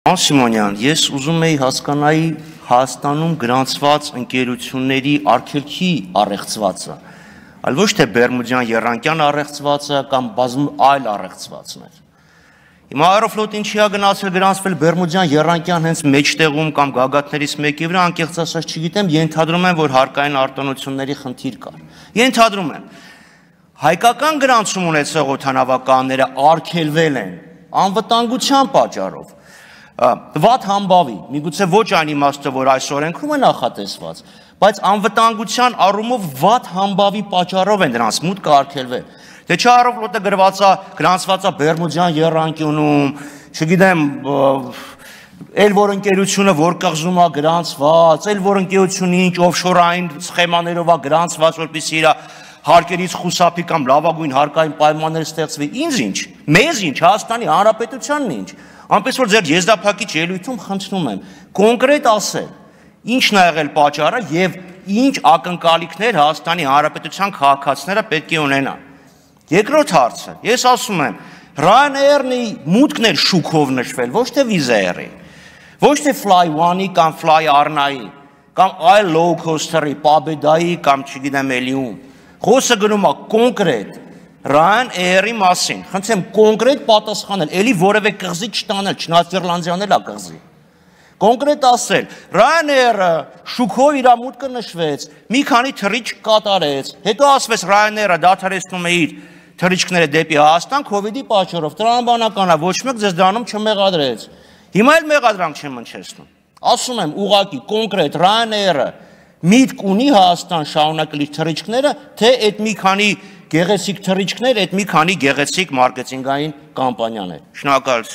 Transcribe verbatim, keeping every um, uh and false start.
Սիմոնյան, ես ուզում էի հասկանայի Հայաստանում գրանցված ընկերությունների արգելքի առեղծվածը, այլ ոչ թե Բերմուդյան Եռանկյան առեղծվածը կամ բազում այլ առեղծվածներ։ Հիմա Aeroflot ինչի է գնացել գրանցվել Բերմուդյան Եռանկյան հենց մեջտեղում կամ գագաթներից մեկի վրա, անկեղծ ասած չգիտեմ, ենթադրում եմ, որ հարկային արտոնությունների խնդիր կար։ Ենթադրում եմ, հայկական գրանցում ունեցող օդանավականները արգելվել են անվտանգության պատճառով։ Վատ համբավի, միգուցե ոչ այն իմաստը, որ այս օրենքում է նախատեսված, բայց անվտանգության առումով վատ համբավի պատճառով են դրանց մուտքը արգելվել։ Դե չէ Aeroflot-ը գրված է, գրանցված է Բերմուդյան Եռանկյունում, չգիտեմ, էլ որ ընկերությունը որ կղզում է գրանցված, էլ որ ընկերությունը ինչ օֆշորային սխեմաներով է գրանցված, որպեսզի իր հարկերից խուսափի կամ լավագույն հարկային պայմաններ ստեղծվի, ինձ ինչ, մեզ ինչ, Հայաստանի Հանրապետությանն ինչ։ Այնպես որ ձեր եզրափակիչ ելույթում խնդրում եմ կոնկրետ ասել, ինչն է եղել պատճառը եւ ինչ ակնկալիքներ Հայաստանի Հանրապետության քաղաքացիները պետք է ունենան։ Երկրորդ հարցը, ես ասում եմ, Ryanair-ի մուտքն էր շուկով նշվել, ոչ թե Wizz Air-ի, ոչ թե Fly One-ի կամ Fly Arna-ի, կամ այլ low coaster-ի, Pobeda-ի կամ չգիտեմ էլի ում։ Խոսքը գնում է կոնկրետ Ryanair-ի մասին, խնդրեմ կոնկրետ պատասխանել, էլի որևէ կղզի չտանել, չնայած Իռլանդիան էլ է կղզի։ Կոնկրետ ասել, Ryanair-ը շուկով իր մուտքը նշվեց, մի քանի թռիչք կատարեց, հետո ասվեց Ryanair-ը դադարեցնում է իր թռիչքները դեպի Հայաստան քովիդի պատճառով, տրամաբանական է, ոչ մեկ ձեզ դրանում չմեղադրեց։ Հիմա էլ մեղադրանք չեմ հնչեցնում։ Ասում եմ ուղղակի կոնկրետ Ryanair-ը միտք ունի Հայաստան շարունակել իր թռիչքները, թե այդ մի քանի գեղեցիկ թռիչքներ, այդ մի քանի գեղեցիկ մարքեթինգային կամպանիաներ։ Շնորհակալություն։